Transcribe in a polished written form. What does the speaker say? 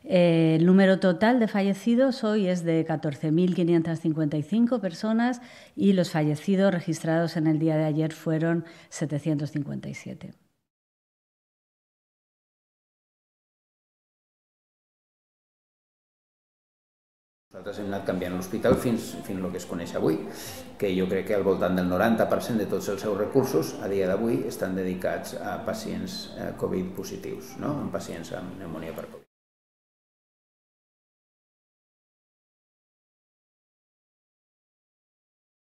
El número total de fallecidos hoy es de 14.555 personas y los fallecidos registrados en el día de ayer fueron 757. Nosaltres hem anat canviant l'hospital fins el que es coneix avui, que jo crec que al voltant del 90% de tots els seus recursos a dia d'avui estan dedicats a pacients Covid positius, no? En pacients amb pneumònia per Covid.